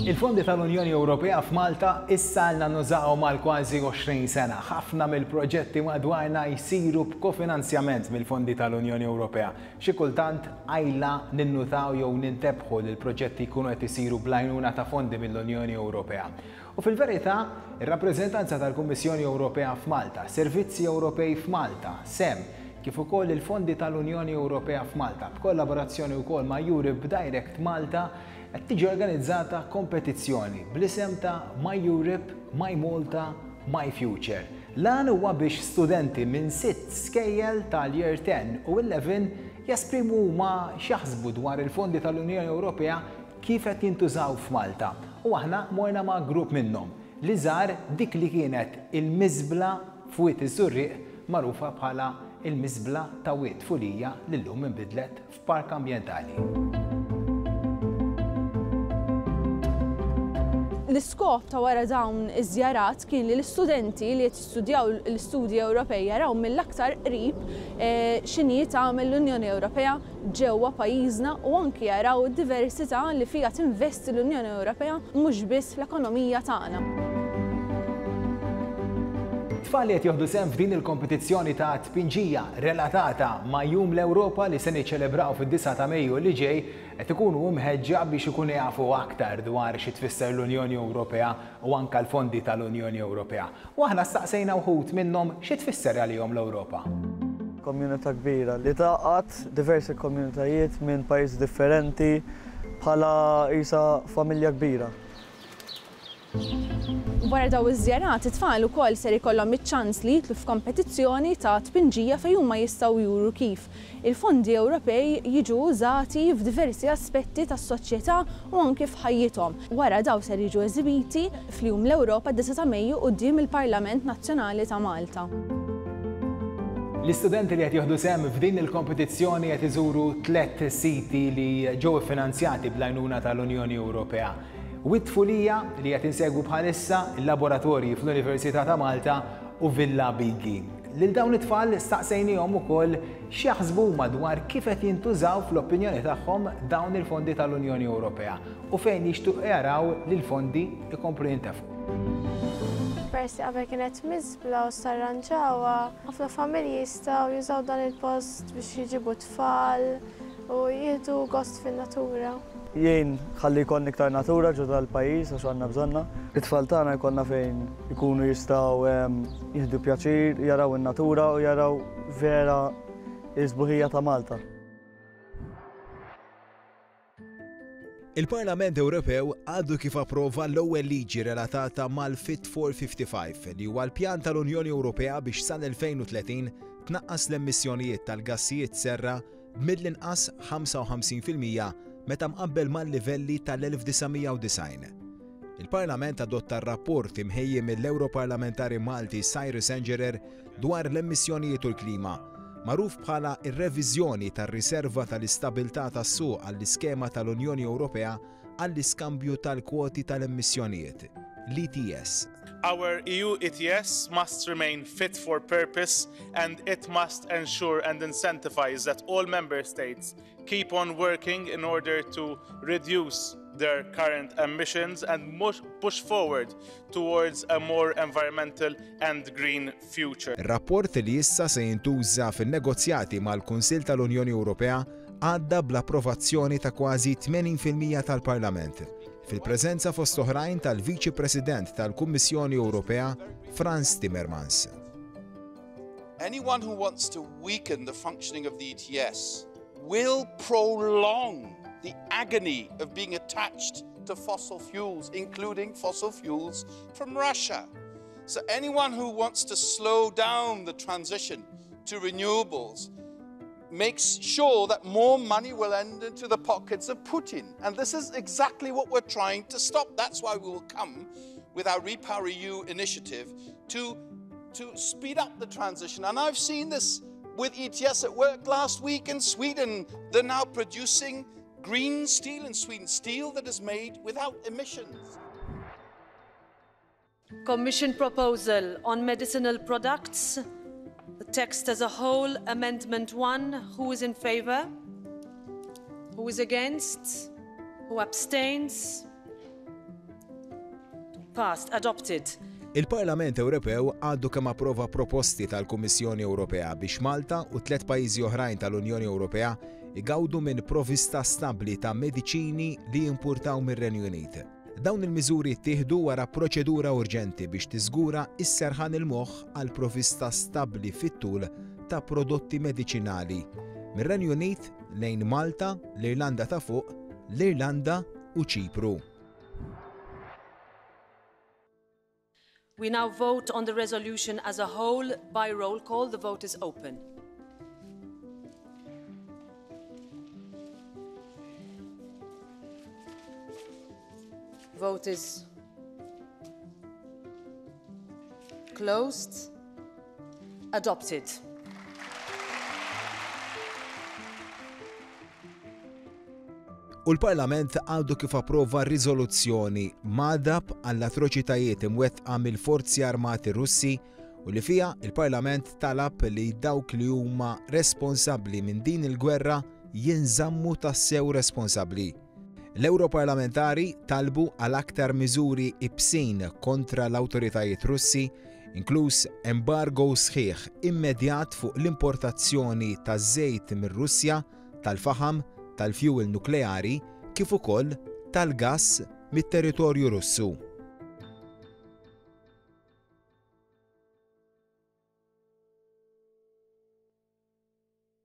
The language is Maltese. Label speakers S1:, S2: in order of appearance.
S1: Il-fondi tal-Unjoni Ewropea f'Malta issa għalna nużawhom għal kważi 20 sena. Ħafna mill-proġetti madwarna jsiru b'kofinanzjament mill-fondi tal-Unjoni Ewropea. Xi kultant qajla ninnutaw jew nintebħu li l-proġetti jkunu qed isiru bl-għajnuna ta' fondi mill-Unjoni Ewropea. U fil-verità, ir-rappreżentanza tal-Kummissjoni Ewropea f'Malta, Servizzi Ewropej f'Malta, sem, kif ukoll il-fondi tal-Unjoni Ewropea f'Malta, b'kollaborazzjoni wkoll ma' Europe Direct Malta, qed tiġi organizzata kompetizzjoni bl-isem ta' My Europe, My Malta, My Future. L-għan huwa biex studenti minn sitt skejjel tal-Year 10 u 11 jesprimu huma x'jaħsbu dwar il-fondi tal-Unjoni Ewropea kif qed jintużaw f'Malta u aħna morna ma' grupp minnhom li żar dik li kienet il-miżbla f'Wied iż-Żurrieq magħrufa bħala l-Miżbla ta' Wied Fulija li llum inbidlet f'park ambjentali.
S2: L-iskop ta' wara dawn iż-żjarat kien li l-istudenti li qed jistudjaw l-istudji Ewropej jaraw mill-aktar qrib x'inhi tagħmel l-Unjoni Ewropea ġewwa pajjiżna u anki jaraw id-diversità li fiha tinvesti l-Unjoni Ewropea mhux biss fl-ekonomija tagħna.
S1: Tfal li qed jieħdu sehem f'din il-kompetizzjoni ta' tpinġija relatata ma' Jum l-Ewropa li se niċċelebraw fid-disgħa ta' Mejju li ġej qed ikunu mħeġġa biex ikunu jafu aktar dwar xi tfisser l-Unjoni Ewropea u anke l-fondi tal-Unjoni Ewropea. U aħna staqsejna wħud minnhom xi tfisser għalihom l-Ewropa.
S3: Komunità kbira li tgħaqqad diversi komunitajiet minn pajjiżi differenti bħala qisha familja kbira.
S2: Wara dawn iż-żjarat, it-tfal ukoll ser ikollhom iċ-ċans li jidħlu f'kompetizzjoni ta' tpinġija fejn huma jistgħu juru kif il-fondi Ewropej jiġu użati f'diversi aspetti tas-soċjetà u anki f'ħajjithom. Wara dawn ser jiġu eżibiti fl-Jum l-Ewropa d-9 ta' Mejju quddiem il-Parlament Nazzjonali ta' Malta.
S1: L-istudenti li qed jieħdu sehem f'din il-kompetizzjoni qed iżuru tlett siti li ġew iffinanzjati bl-għajnuna tal-Unjoni Ewropea. Wied Tfulija, li qed insegwu bħalissa, il-laboratorji fl-Università ta' Malta u Villa Bigi. Lil dawn it-tfal staqsejniehom ukoll x'jaħsbu huma dwar kif qed jintużaw fl-opinjoni tagħhom dawn il-fondi tal-Unjoni Ewropea u fejn jixtiequ jaraw li l-fondi jkomplu jintefqu.
S4: Peress li qabel kienet miżbla u issa rranġawha, ħafna familji jistgħu jużaw dan il-post biex jġibu t-tfal u jieħdu gost fin-natura.
S3: Jgħin ħalli jkollna iktar natura ġo dal-pajjiż għax għandna bżonnha. It-tfal tagħna jkollna fejn ikunu jistgħu jieħdu pjaċir, jaraw in-natura u jaraw vera s-sbuħija ta' Malta.
S1: Il-Parlament Ewropew għadu kif approva l-ewwel liġi relatata mal-Fit for 55, li huwa l-pjan tal-Unjoni Ewropea biex sal-2030 tnaqqas l-emissjonijiet tal-gassijiet serra b'mill-inqas 55% meta mqabbel mal-livelli tal-1990. Il-Parlament adotta r-rapport imħejji mill-Ewroparlamentari Malti Cyrus Engerer dwar l-emissjonijiet u l-klima, magħruf bħala r-reviżjoni tar-riserva tal-istabilità tas-suq għall-iskema tal-Unjoni Ewropea għall-iskambju tal-kwoti tal-emissjonijiet, l-ETS.
S5: Our EU ETS must remain fit for purpose and it must ensure and incentivize that all member states keep on working in order to reduce their current emissions and push forward towards a more environmental and green future.
S1: Ir-rapport li issa se jintuża fin-negozjati mal-Kunsill tal-Unjoni Ewropea għadda bl-approvazzjoni ta' kważi 80% tal-Parlament, fil-preżenza fost oħrajn tal-Viċi President tal-Kummissjoni Ewropea Frans Timmermans.
S5: Anyone who wants to weaken the functioning of the ETS will prolong the agony of being attached to fossil fuels, including fossil fuels from Russia. So anyone who wants to slow down the transition to renewables makes sure that more money will end into the pockets of Putin. And this is exactly what we're trying to stop. That's why we will come with our REPowerEU initiative to, to speed up the transition. And I've seen this with ETS at work last week in Sweden. They're now producing green steel in Sweden, steel that is made without emissions.
S6: Commission proposal on medicinal products. The text as a whole, Amendment 1. Who is in favour? Who is against? Who abstains? Passed. Adopted.
S1: Il-Parlament Ewropew għadu kemm approva proposti tal-Kummissjoni Ewropea biex Malta u tliet pajjiżi oħrajn tal-Unjoni Ewropea igawdu minn provvista stabbli ta' mediċini li jimpurtaw mir-Renju Unit. Dawn il-miżuri ttieħdu wara proċedura urġenti biex tiżgura s-serħan il-moħħ għal provvista stabbli fit-tul ta' prodotti mediċinali mir-Renju Unit lejn Malta, l-Irlanda ta' Fuq, l-Irlanda u Ċipru.
S6: We now vote on the resolution as a whole by roll call. The vote is open. Vote is closed. Adopted.
S1: U l-Parlament għadu kif approva riżoluzzjoni magħdab għall-atroċitajiet imwettqa mill-Forzi Armati Russi u li fiha il-Parlament talab li dawk li huma responsabbli minn din il-gwerra jinżammu tassew responsabbli. L-Ewroparlamentari talbu għal aktar miżuri ibsin kontra l-awtoritajiet Russi, inkluż embargo sħiħ immedjat fuq l-importazzjoni ta' żejt mir-Russja, tal-faħam, tal-fjuwil nukleari kif ukoll tal-gass mit-territorju Russu.